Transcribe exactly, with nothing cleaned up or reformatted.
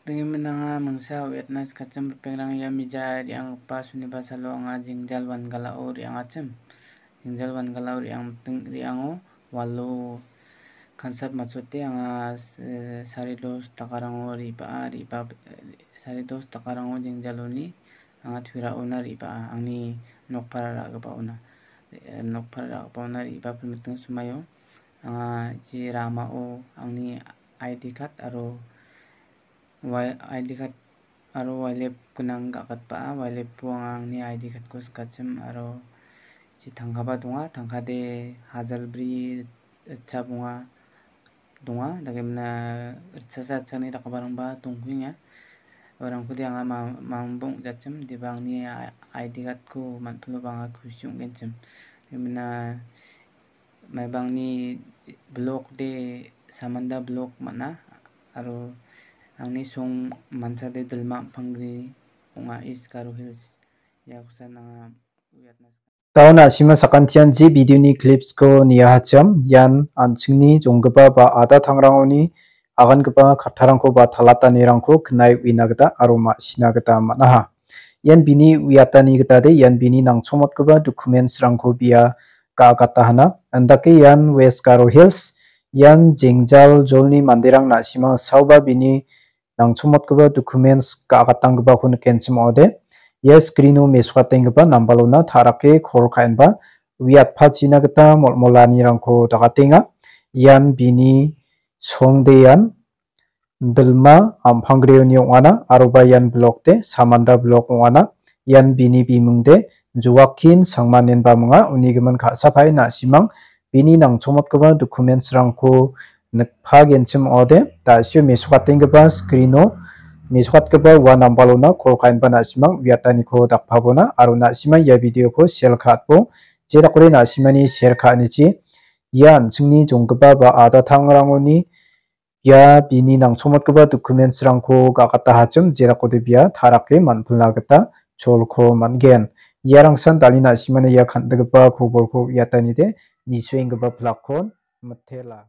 Dingin anga mingsa uiatna sikachim ripengrang ia mija re·anggipa suniba salo anga jengjal wangalao re·angachim. Jengjal wangalao re·angmiting re·ango walo kansap matchote anga s-, sari dos takarango re·baa, re·baa, sari dos takarango jengjaloni anga tuiraona re·baa, angni nokpara ra·gipaona, eh, nokpara ra·gipaona re·baa pilmiting sumaio anga je ramao angni I D card aro wai-, I D card aro wailep gnang ga·gatbaa, wailepo anga angni I D cardko sikachim aro je tangkaba donga, tangkade hajal bri ritchap ong·a, donga, dakemina ritchasa ritchani dakgiparangba dongkuenga. Uarangkode anga ma-, mangbo ong·jachim, deba angni I D cardko man·pilo ba anga kusi ong·genchim. Dakemina maibangni block de Samanda block man·a, aro angni song mansade Dilma Ampanggre ong·a, East Garo Hills. Ia kosan anga uiatna sika. Daun a·sima sakantian je videoni clipsko niahachim, ian an·chingni jonggipa ba ada tangrangoni agangipa kattarangko ba talatanirangko knae uina gita aro ma·sina gita man·aha. Ian bini uiatani gita de, ian bini nangchomotgipa documentsrangko bia ga·gatahana. Andake ian West Garo Hills, ian jengjal jolni manderang na·sima saoba bini nangchomotgipa documents ga·gatanggipako nikenchim ong·ode. Ia screeno mesokatenggipa nambalona ta·rake call ka·enba uiatpachina gita molmolanirangko dagatenga. Ian bini songdean Dilma Ampanggreoni ong·ana, aroba ian block de Samanda block ong·ana. Ian bini bimung de Joaquin Sangmanenba minga, uni gimin ka·sapae na·simang bini nangchomotgipa documentsrangko nikpagenchim ong·ode. Da·sio mesokatenggipa screeno mesokatgipa ua nambalona call ka·enba na·simang uiataniko dakpabona aro na·simang ia videoko share ka·atbo, jedakode na·simani share ka·anichi ia an·chingni jonggipa ba ada tangrangoni ia bini nangchomotgipa documentsrangko ga·gatahachim, jedakode bia ta·rake man·pilna gita cholko man·gen. Iarangsan dal·e na·simana ia kan·gipa kobolko uiatanide nisuenggipa pilakkon mitela.